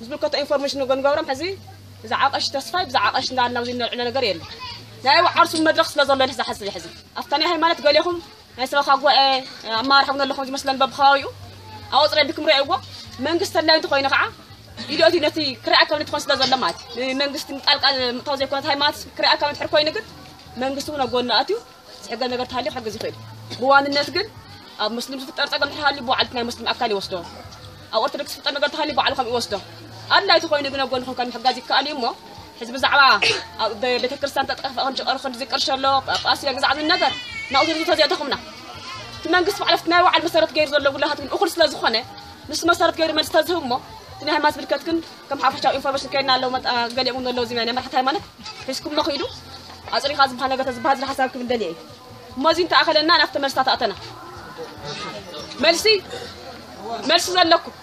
ዝምልከቶ ኢንፎርሜሽን ንጎንገብሮም ሕዚ ብዛዕባ ቀሺ ተስፋይ ብዛዕባ ቀሺ እንዳልና ኣብዚ ነልዕሎ ነገር የለ ናይ ዓርሱ መድረኽ ስለ ዘሎ ሕዚ ሓስብ ሕዚ ኣብታ ናይ ሃይማኖት ገሌኹም ናይ ሰበኻ ጉባኤ ኣማራሒ እውን ኣለኹም ዝመስለን በብኸባቢኡ ኣወፅረ ብክም ርእይዎ መንግስቲ ተድላይ እንተኮይኑ ከዓ ኢዶቲ ነቲ ክርኣ ካብ ንትኾን ስለ ዘሎ ማለት እዩ መንግስቲ ጣልቃ ምእታው ዘይኮነት ሃይማኖት ክርኣ ካብ ንትሕር ኮይኑ ግን መንግስቲ እውን ኣጎና ኣትዩ ዝሕገዝ ነገር ተሃልዩ ክሕግዝ ይኽእል ብዋንነት ግን ኣብ ሙስሊም ዝፍጠር ፀገም ተሃልዩ ብባዕሉ ናይ ሙስሊም ኣካል ይወስዶ ኣብ ኦርቶዶክስ ዝፍጠር ነገር ተሃልዩ ባዕሉ ከም ይወስዶ ኣድላይ ተኮይኑ ግን ኣጎንኹም ከም ምሕጋዝ ይከኣል እዩ እሞ ሕዚ ብዛዕባ ቤተክርስትያን ተጠፍአ ከም ዝቀርሾ ኣሎ ጳጳስ ግዛዕ ዝብል ነገር ናብኡ ዝርዝር ተዘይተኹምና እቲ መንግስቲ ባዕሉ ናይ ባዕሉ መሰረት ገይሩ ዘሎ ውላሃት ግን እኹል ስለ ዝኾነ ንሱ መሰረት ገይሩ መልስ ተዝህብ እሞ እቲ ናይ ሃይማኖት ዝምልከት ግን ከም ሓፈሻዊ ኢንፎርሜሽን ከይድና ኣለዉ ገሊኦም እውን ኣለዉ እዚ ናይ መራሕቲ ሃይማኖት ሒዝኩም መኺዱ ኣፅሪኻ ዝበሃል ነገር ተዝበሃል ዝብል ሓሳብ ክብል ደልየ እዩ እሞ እዚ እንተኣኸለና ናብቲ መልስታት ኣተና መልሲ መልሲ ዘለኩም